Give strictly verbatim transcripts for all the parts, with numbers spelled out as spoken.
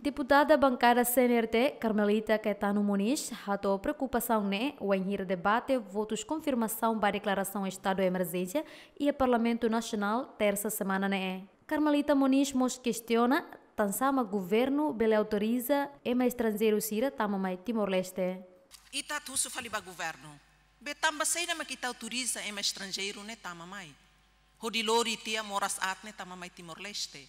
Deputada bankada C N R T, Carmelita Caetano Moniz, hato'o preokupasaun ne'e wainhira debate votus konfirmasaun ba deklarasaun estadu emerjénsia iha Parlamentu Nasionál, tersa semana ne'e. Carmelita Moniz mós kestiona tansá mak governu bele autoriza ema estranjeiru sira tama mai Timor-Leste. Ita atu husu fali ba governu. Be tanba saida mak ita autoriza ema estranjeiru ne'e tama mai? Hodi lori tiha moras aat ne'e tama mai Timor-Leste.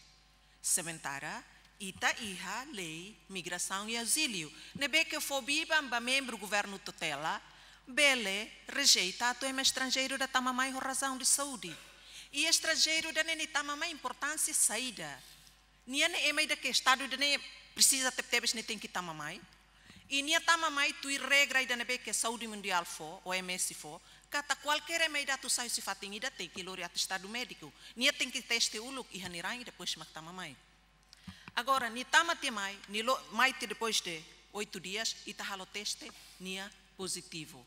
Sementara ita iha lei migrasaun i azíliu, ne'ebé ke fó biban ba membru governu tutela bele rejeita atu ema estranjeiru ida tama mai ho razaun de saúde. I estranjeiru ida-ne'e nia tama mai importánsia saida? Nia ne'e ema ida ke estadu ida-ne'e presiza tebetebes nia tenke tama mai. I nia tama mai tuir regra ida ne'ebé ke Saúde Mundiál fó, O M S fó, katak kualkér ema ida atu sai husi fatin ida tenke lori atestadu médiku. Nia tenke teste uluk iha nia rai i depois mak tama mai. Agora, nia tama tiha mai, nia lo, mai tiha depois de oito dias, ita halo teste, nia pozitivu.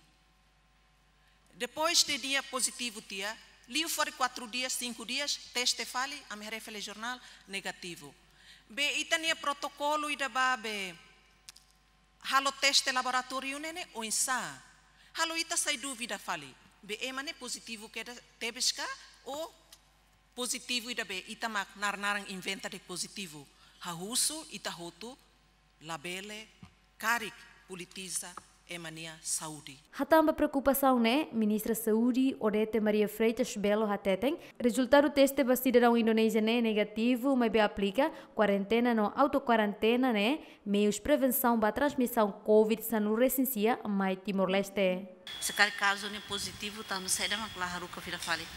Depois de nia pozitivu tiha, liu fali quatro dias, cinco dias, teste fali, ami haree fali jornál, negativu. Be ita-nia protokolu ida ba be halo teste laboratóriu ne'e ne'e oinsá? Halo ita sai dúvida fali. Be ema ne'e pozitivu kedas tebes ka, ou pozitivu ida be ita mak naran-naran inventa de'it pozitivu? Ha'u husu ita hotu labele karik politiza ema nia saúde. Hatán ba preokupasaun ne'e, Ministra Saúde, Odete Maria Freitas Belo hateten, rezultadu teste ba sidadaun Indonézia ne'e negativu, maibé aplika kuarentena no autokuarentena ne'e meius prevensaun ba transmisaun covid sanulu resin sia mai Timor-Leste. Se karik kazu ne'e pozitivu, tanba saida mak la haruka fila fali?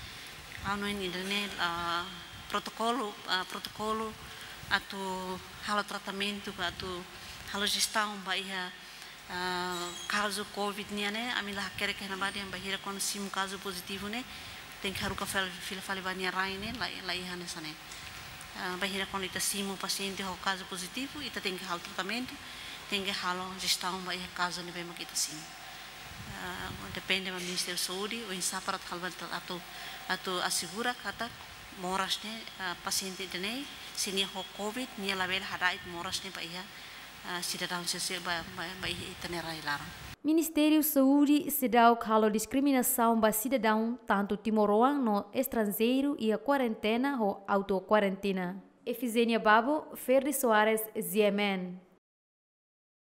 Ha'u hanoin ida-ne'e, ah, protokolu, ah, protokolu atu halo tratamentu, atu halo jestaun ba iha, ah, kazu covid nian ne'e, ami la hakerek iha ne'ebá dehan bainhira kuandu simu kazu pozitivu ne'e tenke haruka fel-, fila fali ba nia rai ne'e, la, la iha hanesan ne'e. Ah, bainhira kuandu ita simu pasiente ho kazu pozitivu, ita tenke halo tratamentu, tenke halo jestaun ba iha kazu ne'ebé mak ita simu. Ah, depende ba Ministériu Saúde, oinsá para atu halo ba atu, atu asegura katak moras ne'e, ah, pasiente ida-ne'e, se nia ho covid, nia labele hada'et moras ne'e ba iha, ah, sidadaun sira-ne'e ba, ba, ba iha ita-nia rai laran. Ministériu Saúde seidauk halo diskriminasaun ba sidadaun tantu timoroan no estranjeiru iha kuarentena ho autokuarentena. Efizénia Babo, Ferdi Soares, G M N.